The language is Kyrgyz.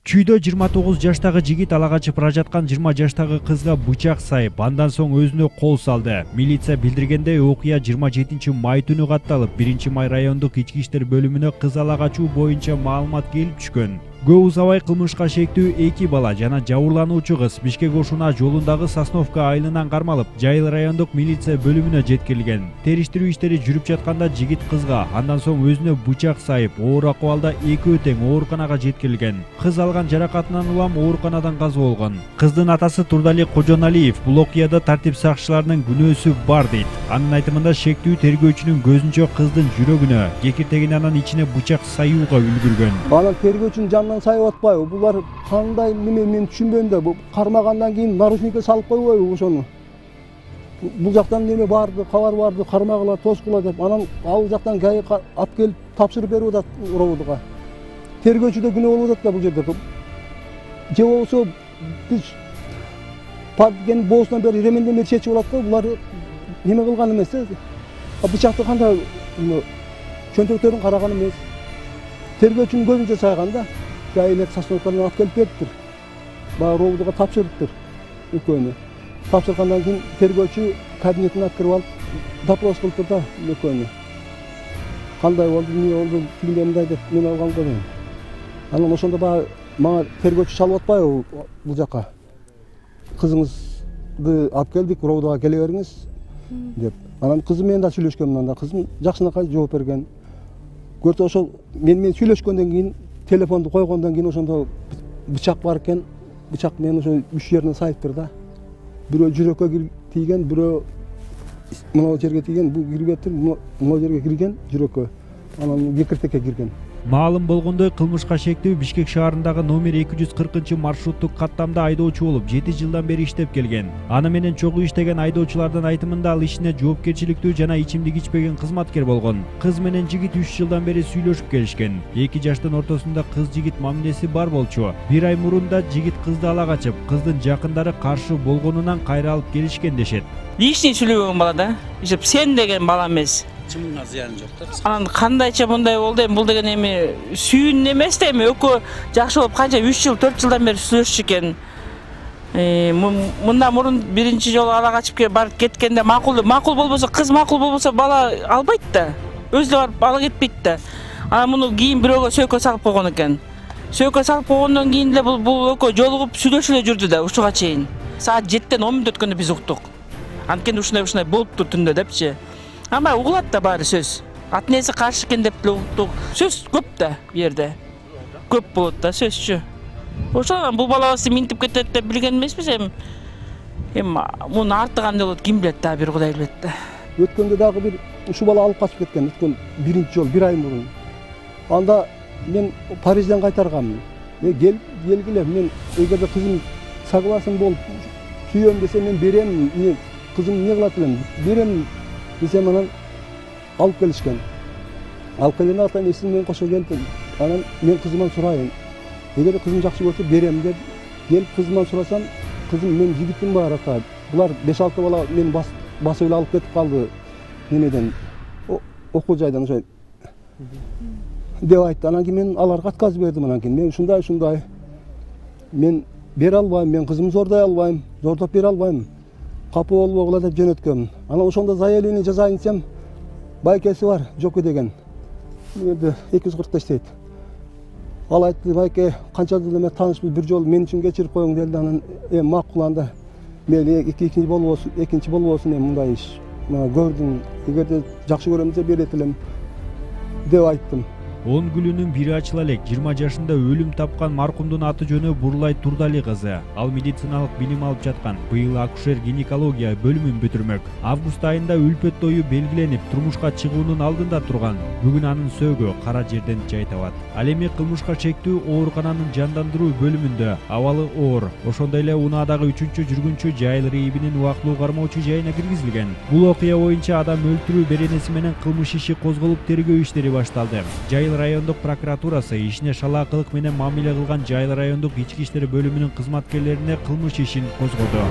Чүйдө 29 жаштагы жигит ала качып бара жаткан 20 жаштагы кызга бычак сайып, андан соң өзүнө кол салды. Милиция билдиргендей, окуя 27 май түнү катталып, 1 май райондук ички иштер бөлүмүнө кыз ала качуу боюнча маалымат келип түшкөн. Көп узабай кылмышка шектүү 2 бала жана жабырлануучу кыз Бишкек-Ошуна жолундагы Сосновка айылынан кармалып, Жайыл райондук милиция бөлүмүнө жеткирилген. Териштирүү иштери жүрүп жатканда жигит кызга, андан соң өзүнө бычак сайып, оор акыбалда экөө тең ооруканага жеткирилген. Кыз алган жаракатынан улам ооруканадан каза болгон. Кыздын атасы Турдали Кожоналиев бул окуяда тартип сакчыларынын күнөөсү бар дейт. Анын айтымында шектүү тергөөчүнүн көзүнчө кыздын жүрөгүнө, кекиртегине анан ичине бычак саюуга үлгүргөн. Анан тергөөчүнүн сайып атпайбы? Булар кандай неме мен түшүнбөйм да. Бу кармагандан кийин наручникке салып койбойбу ошону? Бул жактан неме барды, кабар барды, кармагыла, тоскула деп. Анан ал жактан ГАИ алып келип тапшырып берип атат Робудга. Тергөөчү да күнөө болуп атат да бул жерде. Же болсо биз падген боосунан бери ременден чечип алат го. Булар неме кылган эмес да. Бычакты кандай чөнтөктөрүн караган эмес. Тергөөчүнүн көзүнчө сайган да. ГАИ Сосновкадан алып келип бериптир. Баягы Робудга тапшырыптыр экөөнү. Тапшыргандан кийин тергөөчү кабинетине кирип алып допрос кылыптыр да экөөнү. Кандай болду, эмне болду, тигиндей мындай деп мен алган го дейм. Анан ошондо баягы мага тергөөчү чалып атпайбы бул жака? Кызыңызды алып келдик, Робудга келе бериңиз деп. Анан кызым менен да сүйлөшкөн мындан да. Кызым жакшынакай жооп берген. Көрсө ошол мен сүйлөшкөндөн кийин телефонду койгондон кийин ошондо бычак бар экен. Бычак менен ошо 3 жерине сайыптыр да. Бирөө жүрөккө тийген, бирөө мына жерге тийген, бул кирбептир, мына жерге кирген жүрөккө. Анан кекиртекке кирген. Маалым болгондой, кылмышка шектүү Бишкек шаарындагы номер 240-маршруттук каттамда айдоочу болуп 7 жылдан бери иштеп келген. Аны менен чогуу иштеген айдоочулардын айтымында ал ишине жоопкерчиликтүү жана ичимдик ичпеген кызматкер болгон. Кыз менен жигит 3 жылдан бери сүйлөшүп келишкен. 2 жаштын ортосунда кыз-жигит мамилеси бар болчу. 1 ай мурун да жигит кызды ала качып, кыздын жакындары каршы болгонунан кайра алып келишкен дешет. Лишний сүйлөгөн бала да. Ишеп сен деген бала эмес. Чымыңга зыяны жок да. Анан кандайча мындай болду эми, бул деген эми сүйүн эмес да эми, экөө жакшы болуп канча 3 жыл 4 жылдан бери сүйлөшчү экен. Мындан мурун биринчи жолу ала качып барып кеткенде макул болбосо, кыз макул болбосо бала албайт да. Өзү барып ала кетпейт да. Анан муну кийин бирөөгө сөйкө салып койгон экен. Сөйкө салып койгондон кийин эле бул экөө жолугуп сүйлөшүп эле жүрдү да ушуга чейин. Саат 7-тен 10 мүнөт өткөндө биз уктук. Анткени ушундай болуптур түндө депчи. Ама угулат да баары сөз. Атнеси каршы экен деп эле уктук. Сөз көп да бу жерде. Көп болот да сөзчү. Ошондон бул балабызды минтип кетет деп билген эмеспиз эми. Муну арты кандай болот ким билет да, бир Кудай билет да. Өткөндө дагы бир ушу бала алып качып кеткен, өткөн биринчи жол 1 ай мурун. Анда мен Парижден кайтарганмын. Келгиле, мен эгерде кызым согласен болуп сүйөм десе мен берем, кызым эмне кылат элем, берем десем анан алып келишкен. Алып келгенде атайын эсин менен кошо келип, анан мен кызымдан сурайын. Эгер кызым жакшы көрсө берем деп келип кызымдан сурасам, кызым мен жигитим бар ата. Булар 5-6 бала мени басып эле алып кетип калды. Немеден окуу жайдан ошо деп айтты. Анан кийин мен аларга отказ бердим. Анан кийин мен ушундай мен бере албайм, мен кызымды зордой албайм, зордоп бере албайм. Капы болбогула деп жөнөткөм. Анан ошондо заявление жазайын десем, байкеси бар, Жоке деген. Мында 240 иштейт. Ал айтты, байке, канча жыл эме таанышпыз, бир жолу мен үчүн кечирип коюң деди. Анан макул анда мен экинчи болбосун мындай иш. Көрдүм, эгерде жакшы көрөм десе берет элем деп айттым. 10 гүлүнүн бири ачыла элек 20 жашында өлүм тапкан маркумдун аты жөнү Бурлай Турдали кызы. Ал медициналык билим алып жаткан. Быйыл акушер-гинекология бөлүмүн бүтүрмөк. Август айында үлпөт тою белгиленип, турмушка чыгуунун алдында турган. Бүгүн анын сөөгү кара жерден жай табат. Ал эми кылмышка шектүү оорукананын жандандыруу бөлүмүндө абалы оор. Ошондой эле унаадагы 3-чү жүргүнчү Жайыл РИИБинин убактылуу кармоочу жайына киргизилген. Бул окуя боюнча адам өлтүрүү беренеси менен кылмыш иши козголуп, тергөө иштери башталды. Жайыл райондук прокуратурасы ишине шалаакылык менен мамиле кылган Жайыл райондук ички иштер бөлүмүнүн кызматкерлерине кылмыш ишин козгоду.